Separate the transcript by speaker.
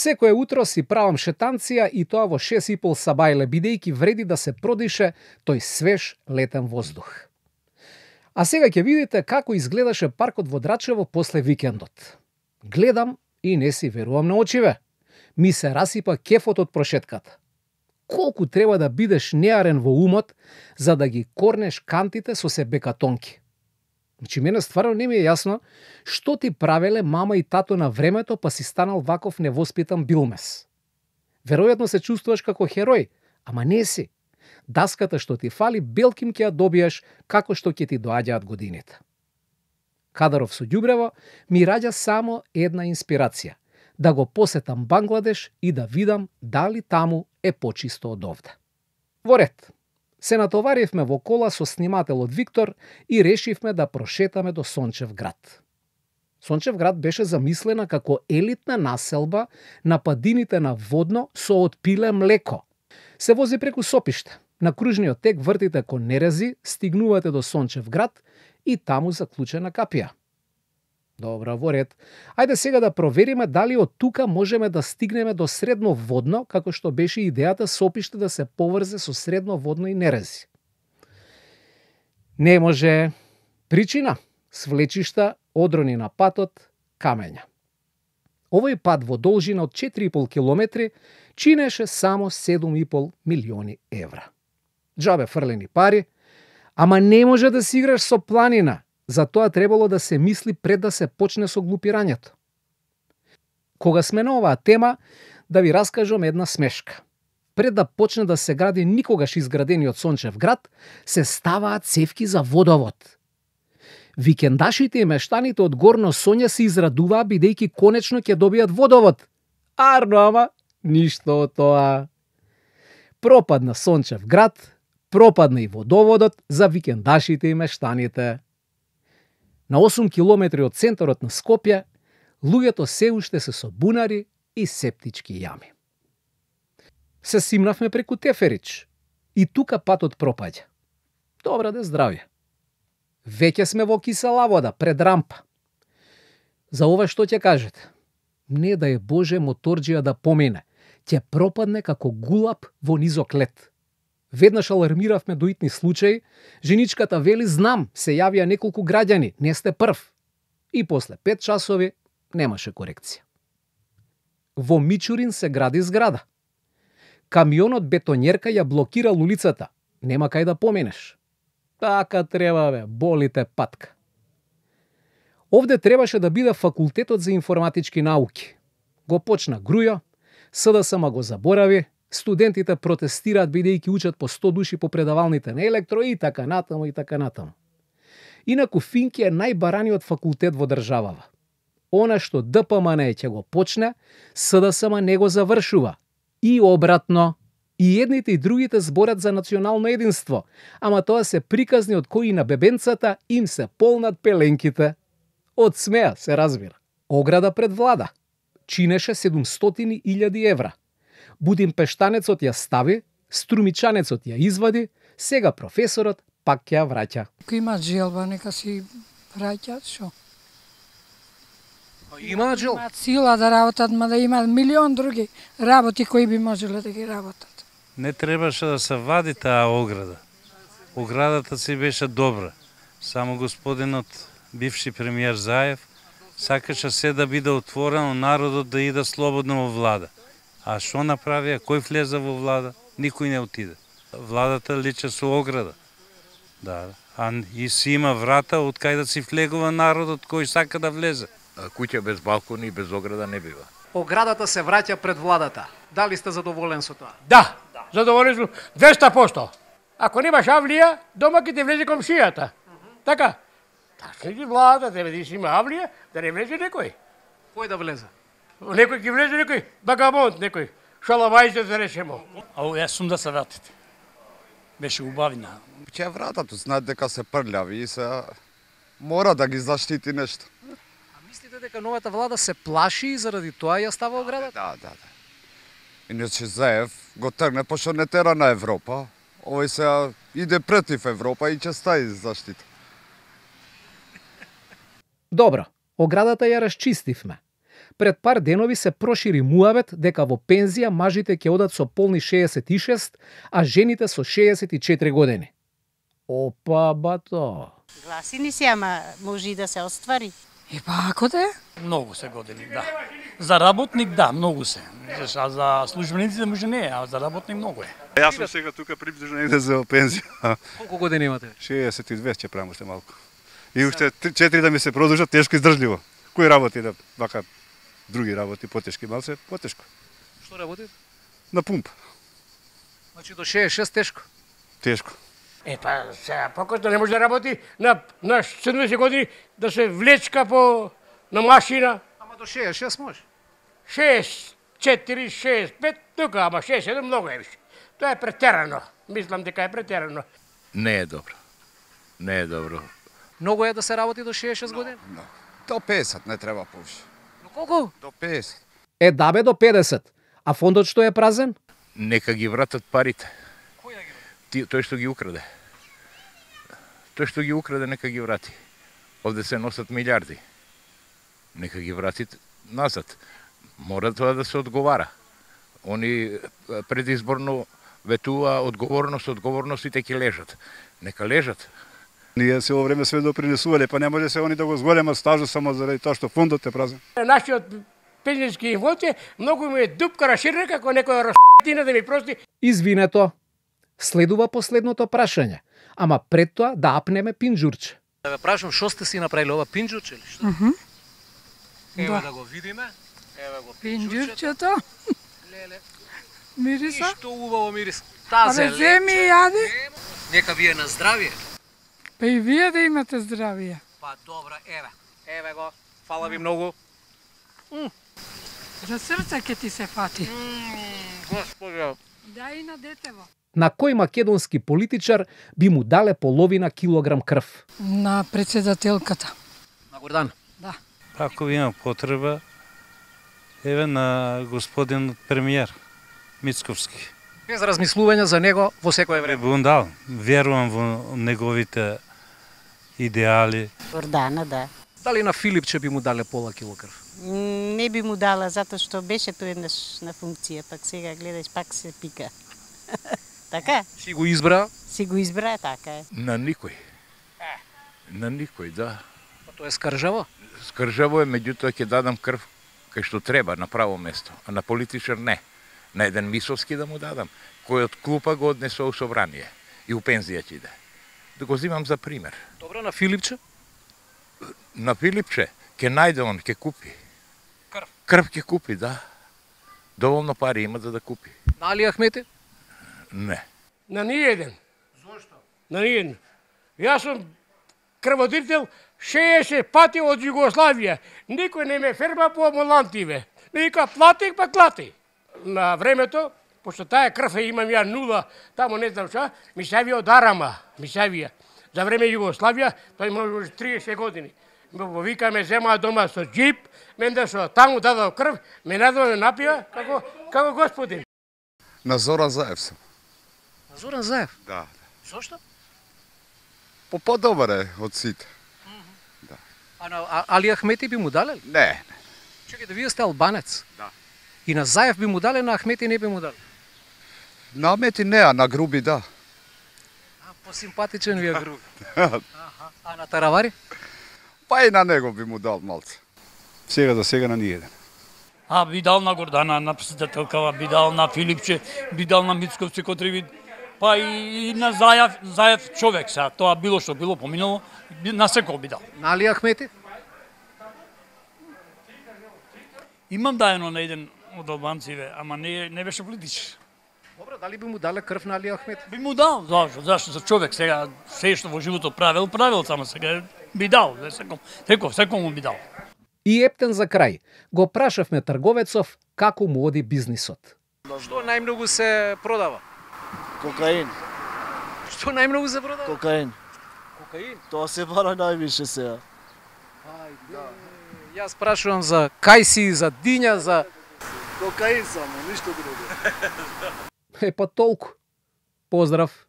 Speaker 1: Секое утро си правам шетанција и тоа во 6:30 сабајле, бидејќи вреди да се продише тој свеж летен воздух. А сега ќе видите како изгледаше паркот во Драчево после викендот. Гледам и не си верувам на очиве. Ми се расипа кефот од прошетката. Колку треба да бидеш неарен во умот за да ги корнеш кантите со се бекатонки. Значи, мене стварно не ми е јасно што ти правеле мама и тато на времето па си станал ваков невоспитан билмес. Веројатно се чувствуваш како херој, ама не си. Даската што ти фали, белким ќе ја добиеш како што ќе ти доаѓаат годините. Кадаров со ѓубрево ми раѓа само една инспирација. Да го посетам Бангладеш и да видам дали таму е почисто од овде. Во ред. Се натоваривме во кола со снимателот Виктор и решивме да прошетаме до Сончев град. Сончев град беше замислена како елитна населба на падините на Водно со отпиле млеко. Се вози преку Сопиште. На кружниот тек вртите кон Нерези, стигнувате до Сончев град и таму заклучена капија. Добро, во ред. Ајде сега да провериме дали од тука можеме да стигнеме до Средно Водно, како што беше идејата Сопиште да се поврзе со Средно Водно и Нерези. Не може. Причина? Свлечишта, одрони на патот, камења. Овој пат во должина од 4,5 километри чинеше само 7,5 милиони евра. Џабе фрлени пари, ама не може да си играш со планина. За тоа требало да се мисли пред да се почне со глупирањето. Кога сме на оваа тема, да ви раскажам една смешка. Пред да почне да се гради никогаш изградениот Сончев град, се ставаат цевки за водовод. Викендашите и мештаните од Горно Сонје се израдуваа бидејќи конечно ќе добијат водовод. Арно, ама ништо од тоа. Пропадна Сончев град, пропадна и водоводот за викендашите и мештаните. На 8 километри од центарот на Скопје, луѓето се уште се со бунари и септички јами. Се симнавме преку Теферич и тука патот пропаѓа. Добра де здравје. Веќе сме во кисела вода, пред рампа. За ова што ќе кажете? Не да е Боже моторџија да помине, ќе пропадне како гулаб во низок лед. Веднаш алармиравме до итни случаи, женичката вели знам, се јавија неколку граѓани, не сте прв. И после 5 часови немаше корекција. Во Мичурин се гради зграда. Камионот бетонјерка ја блокирал улицата, нема кај да поминеш. Така треба бе, болите патка. Овде требаше да биде факултетот за информатички науки. Го почна Грујо, СДСМ го заборави, студентите протестираат бидејќи учат по 100 души по предавалните на електро и така натаму и така натаму. Инаку Финки е најбараниот факултет во државава. Она што ДПМН ќе го почне, СДСМ не го завршува. И обратно. И едните и другите зборат за национално единство, ама тоа се приказни од кои на бебенцата им се полнат пеленките. Од смеа се разбира. Ограда пред влада. Чинеше 700.000 евра. Будимпештанецот ја стави, струмичанецот ја извади, сега професорот пак ќе ја враќа.
Speaker 2: Ако имаат желба, нека си враќаат, шо?
Speaker 1: Имаат жел?
Speaker 2: Имаат сила да работат, ма да имаат милион други работи кои би можеле да ги работат.
Speaker 3: Не требаше да се вади таа ограда. Оградата си беше добра. Само господинот, бивши премиер Заев, сакаше се да биде отворено, народот да иде слободно во влада. А што направија? Кој влезе во влада? Никој не отиде. Владата личе со ограда. Да. А и си има врата од кај да си влегува народот кој сака да влезе.
Speaker 4: Куќа без балкони и без ограда не бива.
Speaker 1: Оградата се враќа пред владата. Дали сте задоволен со тоа?
Speaker 5: Да, задоволен сум 200%. Ако немаш авлија, дома ќе ти влезе комшијата. Така? Така ги влада, треба да има авлија, да не влезе некој.
Speaker 1: Кој да влезе?
Speaker 5: Некој ќе влезе, некој багамонт, некој шалавајзе да решемо.
Speaker 6: Јас сум да се вратите. Беше убавина.
Speaker 7: Ќе вратат, знаат дека се прљави и се мора да ги заштити нешто.
Speaker 1: Мислите дека новата влада се плаши и заради тоа ја става оградата?
Speaker 7: Да. Иначе Заев го тргне, пошто не тера на Европа. Овој се иде против Европа и ќе стаи заштита.
Speaker 1: Добро, оградата ја расчистивме. Пред пар денови се прошири муавет дека во пензија мажите ќе одат со полни 66, а жените со 64 години. Опа, бато.
Speaker 8: Гласини се, ама може и да се оствари.
Speaker 2: И па ако да е?
Speaker 6: Многу се години, да. За работник, да, многу се. А за службениците може не е, а за работник многу е.
Speaker 9: Јас сум сега тука приближно негде за пензија.
Speaker 1: Колку години имате?
Speaker 9: 62 ќе правам уште малку. И уште 4 да ми се продолжат тешко издржливо. Кој работи да вака други работи потешки, малце потешко.
Speaker 1: Што работите?
Speaker 9: На пумп.
Speaker 1: Значи до 66 тешко.
Speaker 9: Тешко.
Speaker 5: Па сега покосно не може да работи на 70 години да се влечка на машина.
Speaker 1: Ама до 66 може.
Speaker 5: 6, 4, 6, 5, тука, ама 6, 7 многу е више. Тоа е претерано. Мислам дека е претерано.
Speaker 4: Не е добро. Не е добро.
Speaker 1: Многу е да се работи до 66 години?
Speaker 7: До 50 не треба повише.
Speaker 1: Но колку?
Speaker 7: До 50.
Speaker 1: Дабе до 50. А фондот што е празен?
Speaker 4: Нека ги вратат парите. Тој што ги украде. Тој што ги украде, нека ги врати. Овде се носат милиарди. Нека ги врати назад. Мора тоа да се одговара. Они предизборно ветува одговорностите ќе лежат. Нека лежат.
Speaker 9: Ние се во време све допринесувале, па не може се они да го зголемат стажот само заради тоа што фондот е празен.
Speaker 5: Нашиот пензијски фонд е многу ми е дупка расширена како некоја расштина да ми прости.
Speaker 1: Извинето. Следува последното прашање. Ама пред тоа да апнеме пинџурче. Да ве прашам што сте си направиле ова пинџурче или што? Ева да го видиме. Ева го
Speaker 2: Пинџурчето.
Speaker 1: Леле.
Speaker 2: Мириса?
Speaker 1: Што убаво мирис. Тазе
Speaker 2: Земи и јади.
Speaker 1: Нека вие на здравие.
Speaker 2: Па и вие да имате здравие.
Speaker 1: Па добра, еве го. Фала ви многу.
Speaker 2: За срце ќе ти се фати.
Speaker 1: Господи.
Speaker 2: Да и на детево.
Speaker 1: На кој македонски политичар би му дале половина килограм крв?
Speaker 2: На председателката.
Speaker 1: На Гордан.
Speaker 2: Да.
Speaker 3: Ако има потреба, еве на господин премиер Мицковски.
Speaker 1: Без размислување за него во секое време.
Speaker 3: Би му дал. Верувам во неговите идеали.
Speaker 8: Гордана, да.
Speaker 1: Дали на Филипче би му дале пола кило крв?
Speaker 8: Не би му дала, затоа што беше тој еднаш на функција, пак сега гледаш, пак се пика. Така?
Speaker 1: Си го избра?
Speaker 8: Си го избра, така е.
Speaker 4: На никој. На никој, да.
Speaker 1: Па тоа е скржаво.
Speaker 4: Скржаво е, меѓутоа ќе дадам крв кај што треба, на право место. А на политичар не. На еден Мисовски да му дадам, кој од клупа го однесува у собрание и у пензија ќе иде. Да го зимам за пример.
Speaker 1: Добро, на Филипче?
Speaker 4: На Филипче ќе најде он, ќе купи.
Speaker 1: Крв?
Speaker 4: Крв ќе купи, да. Доволно пари има за да купи.
Speaker 1: На Али Ахмети?
Speaker 4: Не.
Speaker 5: На ниеден. Зошто? На ниеден. Јас сум крводарител 60 пати од Југославија. Никој не ме ферма по амбулантиве. Нека платих, па клати. На времето, пошто таа крв имам ја нула, тамо не знам ша, ми се јави од Арама, ми се јавија. За време Југославија, тој може 30 години. Ме вика, ме земаа дома со джип, менде со таму дадал крв, ме надоме напија, како господин.
Speaker 7: На Зоран Заев сум.
Speaker 1: На Зоран Заев?
Speaker 7: Да.
Speaker 1: Зошто?
Speaker 7: Подобар е од сите.
Speaker 1: А на Али Ахмети би му дале?
Speaker 7: Не.
Speaker 1: Чекайте, вие сте албанец.
Speaker 7: Да.
Speaker 1: И на Заев би му дале, на Ахмети не би му дале.
Speaker 7: На Ахмети не, а на Груби да.
Speaker 1: Посимпатичен ви е Груби. А на Таравари?
Speaker 7: Па и на него би му дал малце.
Speaker 9: Сега за сега на ниеден.
Speaker 6: Би дал на Гордана, на председателкава, би дал на Филипче, би дал на Мицковци Котревид, па и на Заев човек сега. Тоа било што било поминало, на секој би дал.
Speaker 1: На Али Ахмети?
Speaker 6: Имам дајано на еден од албанциве, ама не беше политичар.
Speaker 1: Добро, дали би му дале крв на Али Ахмети?
Speaker 6: Би му дал, зашто за човек сега се што во животот правил, само сега би дал, секој му би дал.
Speaker 1: И ептен за крај, го прашавме трговецов како му оди бизнисот. Што најмногу се продава?
Speaker 10: Кокаин.
Speaker 1: Што најмногу се продава?
Speaker 10: Кокаин.
Speaker 1: Кокаин?
Speaker 10: Тоа се бара највише сега.
Speaker 1: Јас прашувам за кајси, за диња, за...
Speaker 10: Кокаин само, ништо друго.
Speaker 1: Па толку. Поздрав.